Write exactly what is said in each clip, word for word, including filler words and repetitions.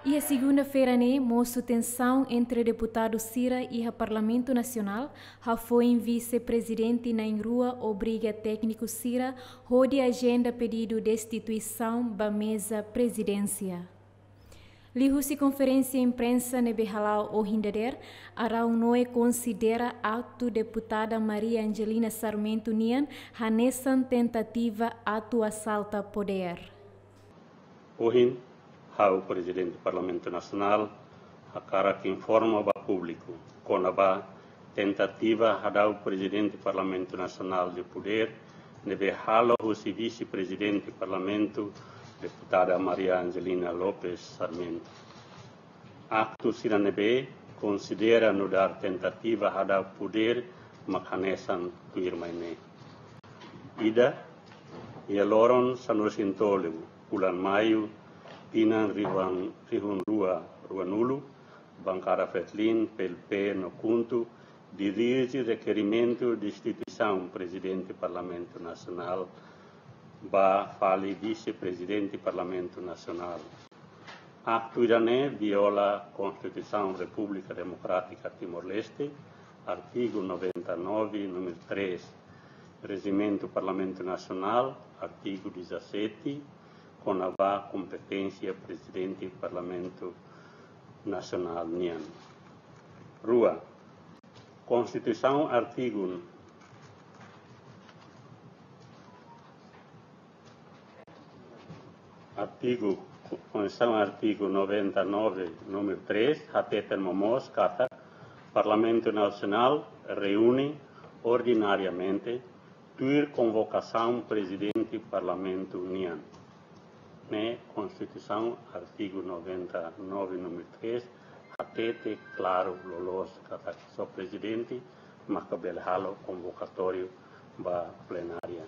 Iha segunda-feira ne'e, mosu tensaun entre deputadu sira iha Parlamentu Nasionál, hafoin vise-prezidente na'in-rua obriga tékniku sira hodi ajenda pedidu destituisaun ba meza prezidénsia. Liuhusi konferénsia imprensa ne'ebé hala'o ohin dadeer, Araújo konsidera aktu deputada Maria Angelina Sarmento nian hanesan tentativa atu asalta podér. Ohin, ha'u Prezidente Parlamentu Nasionál hakarak informa ba públiku kona-ba tentativa hadau Prezidente Parlamentu Nasionál de Podér ne'ebé halo husi Vise-Prezidente Parlamentu, Deputada Maria Angelina Lopes Sarmento. Aktu sira ne'ebé konsidera nu'udar tentativa hadau podér mak hanesan tuirmai ne'e. Ida, iha loron sanulu-resin-tolu fulan Maiu, tinan rihun, rihun rua, ruanulu, Bankada Fretilin, PLP no KHUNTO dirije rekerimentu destituisaun Prezidente Parlamentu Nasionál ba fali Vise-Prezidente Parlamentu Nasionál. Aktu ida-ne'e viola Konstituisaun Repúblika Demokrátika Timor-Leste, artigu noventa e nove, númeru três, Rejimentu Parlamentu Nasionál, artigu dezassete, kona-ba kompeténsia Prezidente Parlamentu Nasionál nian. Rua, Konstituisaun artigu, artigu, Konstituisaun artigu noventa e nove, númeru três, hateten momoos katak Parlamentu Nasionál reúne ordinariamente tuir konvokasaun Prezidente Parlamentu nian. Ne'e Konstituisaun artigu noventa e nove, númeru três, hatete klaru loloos katak só Prezidente maka bele halo konvokatóriu ba plenária.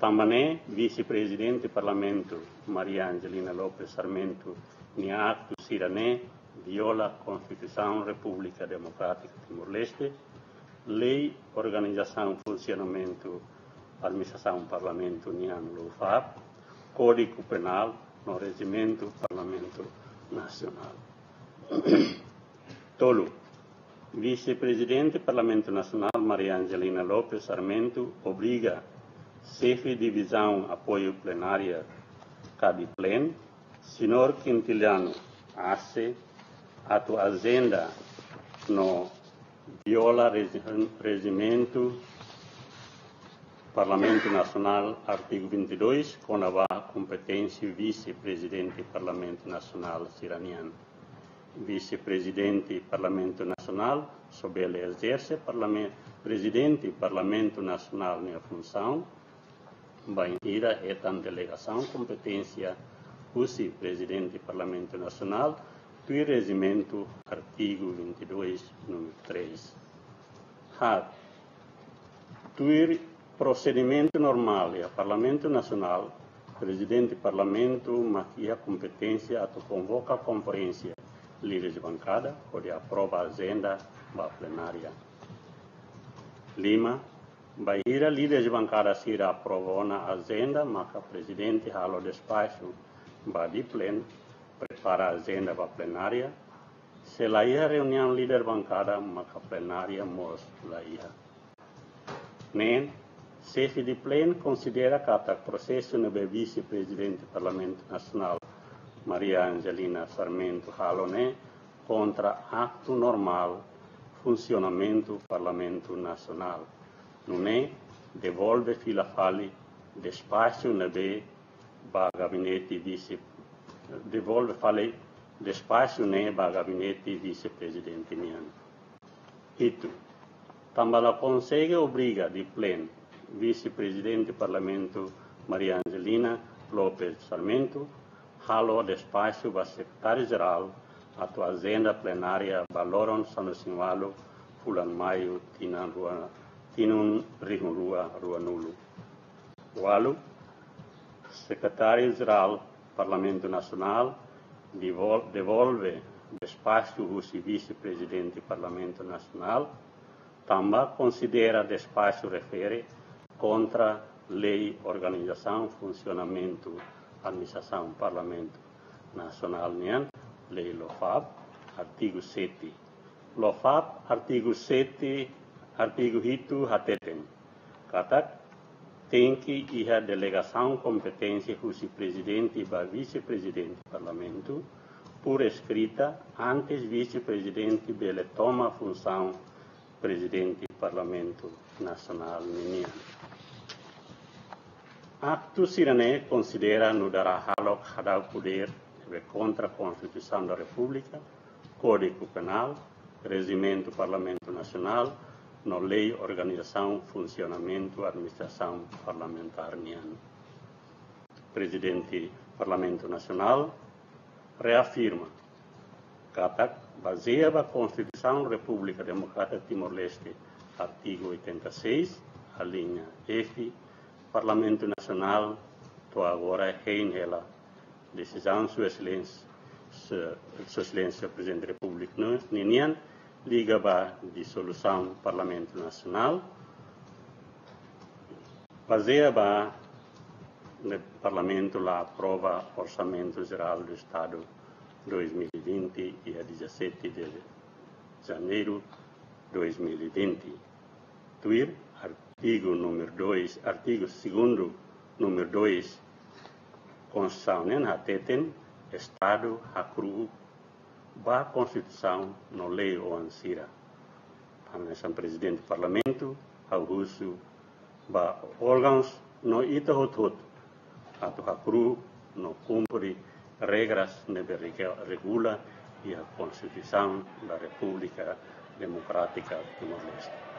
Tanba ne'e, Vise-Prezidente Parlamentu Maria Angelina Lopes Sarmento nia aktu sira-ne'e viola Konstituisaun Repúblika Demokrátika Timor-Leste, Lei Organizasaun Funsionamentu Administrasaun Parlamentu nian, LOFAP, Kódigu Penál no Rejimentu Parlamentu Nasionál. Tolu, Vise-Prezidente Parlamentu Nasionál Maria Angelina Lopes Sarmento obriga Xefe Divizaun Apoiu Plenária ka DIPLEN, Señór Quintiliano Arce, atu ajenda no viola regi-, Rejimentu Parlamentu Nasionál, artigu vinte e dois, kona-ba kompeténsia Vise-Prezidente Parlamentu Nasionál sira-nian. Vise-Prezidente Parlamentu Nasionál só bele ezerse parlamen-, Prezidente Parlamentu Nasionál nia funsaun, bainhira hetan delegasaun kompeténsia husi Prezidente Parlamentu Nasionál, tuir Rejimentu, artigu vinte e dois, númeru três. Haat, tuir prosedimentu normál iha Parlamentu Nasionál, Prezidente Parlamentu mak iha kompeténsia atu konvoka konferénsia líderes bankada hodi aprova ajenda ba plenária. Lima, bainhira líderes bankada sira aprova ona ajenda, maka Prezidente halo despaxu ba DIPLEN prepara ajenda ba plenária. Se la iha reuniaun líder bankada, maka plenária mós la iha. Neen, Xefe DIPLEN konsidera katak prosesu ne'ebé Vise-Prezidente Parlamentu Nasionál Maria Angelina Sarmento halo ne'e kontra aktu normál funsionamentu Parlamentu Nasionál. Nune'e devolve fila fali despaxu ne'ebé ba gabinete vise, devolve fali despaxu ne'e ba gabinete Vise-Prezidente nian. Hitu, tanba la konsege obriga DIPLEN, Vise-Prezidente Parlamentu Maria Angelina Lopes Sarmento halo despaxu ba Sekretáriu-Jerál atu ajenda plenária ba loron sanulu-resin-ualu fulan Maiu tinan rua, tinan rihun rua ruanulu. Ualu, Sekretáriu-Jerál Parlamentu Nasionál devol-, devolve despaxu husi Vise-Prezidente Parlamentu Nasionál, tanba konsidera despaxu refere kontra Lei Organizasaun Funsionamentu Administrasaun Parlamentu, Nasionál nian, Lei Lofap, artigu sete. Lofap, artigu sete, artigu hitu hateten katak tenke iha delegasaun kompeténsia husi Prezidente ba Vise-Prezidente Parlamentu, por eskrita, antes Vise-Prezidente bele toma funsaun Prezidente Parlamentu Nasionál ninian. Aktu sira-ne'e konsidera nu'udar hahalok hadau podér ne'ebé kontra Konstituisaun da Repúblika, Kódigu Penál, Rejimentu Parlamentu Nasionál, no Lei Organizasaun Funsionamentu Administrasaun Parlamentár nian. Prezidente Parlamentu Nasionál reafirma katak, bazeia ba Konstituisaun Repúblika Demokrátika Timor-Leste, artigu oitenta e seis, alínea F, Parlamentu Nasionál to'o agora hein hela desizaun Sua Exelénsia, Sua Exelénsia Prezidente Repúblika ninian liga ba disolusaun Parlamentu Nasionál, bazeia ba ne'e Parlamentu la aprova Orsamentu Jerál do Estadu dois mil e vinte, dia dezassete de janeiro dois mil e vinte. Tuir artigu númeru dois, artigu segundu númeru dois, Konstituisaun nian hateten Estadu hakru'uk ba Konstituisaun no lei oan sira. Hanesan Prezidente Parlamentu, ha'u husu ba órgaun no ita hotu-hotu atu hakru'uk no kumpre regras ne'ebé rege-, regula iha Konstituisaun da Repúblika Demokrátika Timor-Leste.